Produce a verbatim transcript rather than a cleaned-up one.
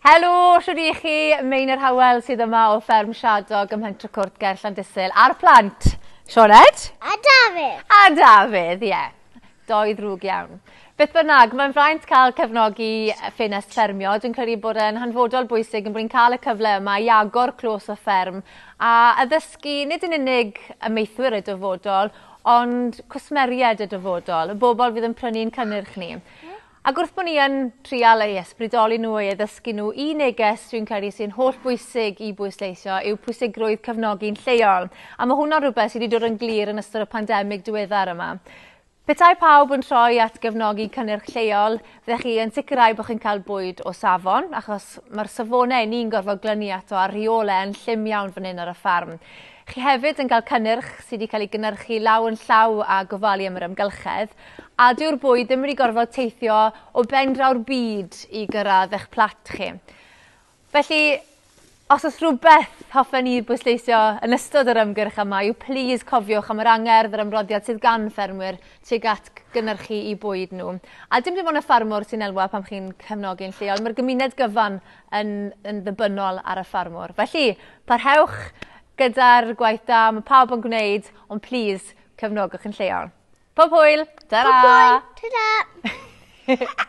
Helo, shwd i chi? Meinir Howell sydd yma o Fferm Siadog ym Mhentre Cwrt ger Llandysul a'r plant. Sioned? A Dafydd. A Dafydd, ie. Yeah. Doi ddrwg iawn. Beth bynnag, mae'n fraint cael cefnogi ffenest ffermio. Dwi'n credu bod e'n hanfodol bwysig yn bod ni'n cael y cyfle yma i agor clos y fferm a addysgu nid yn unig amaethwyr y dyfodol, ond cwsmeriaid y dyfodol, y bobl fydd yn prynu'n cynnyrch ni. Ac wrth bod ni yn trial eu ysbrydoli nhw, eu addysgu nhw, un neges dwi'n credu sy'n holl bwysig i bwysleisio yw pwysigrwydd cefnogi'n lleol. A mae hwnna'n rhywbeth sydd wedi dod yn glir yn ystod y pandemig diweddar yma. Petai pawb yn troi at gefnogi cynnyrch lleol, fyddech chi yn sicrhau bod chi'n cael bwyd o safon, achos mae'r safonau ni'n gorfod glynu ato a'r rheolau yn llym iawn fan hyn ar y ffarm. Chi hefyd yn cael cynnyrch sydd wedi cael ei gynhyrchu law yn llaw a gofalu am yr amgylchedd, a dyw'r bwyd ddim wedi gorfod teithio o ben draw'r byd i gyrraedd eich plat chi. Felly, os oes rhywbeth hoffen ni bwysleisio yn ystod yr ymgyrch yma yw plîs cofiwch am yr angerdd yr ymroddiad sydd gan ffermwyr tuag at gynhyrchu i bwyd nhw. A dim dim ond y ffarmwr sy'n elwa pan chi'n cefnogi'n lleol, mae'r gymuned gyfan yn, yn ddibynnol ar y ffarmwr. Felly, parhewch gyda'r gwaith da, mae pawb yn gwneud, ond plîs cefnogwch yn lleol. Pob hwyl! Ta-ra! Pob hwyl! Ta-ra!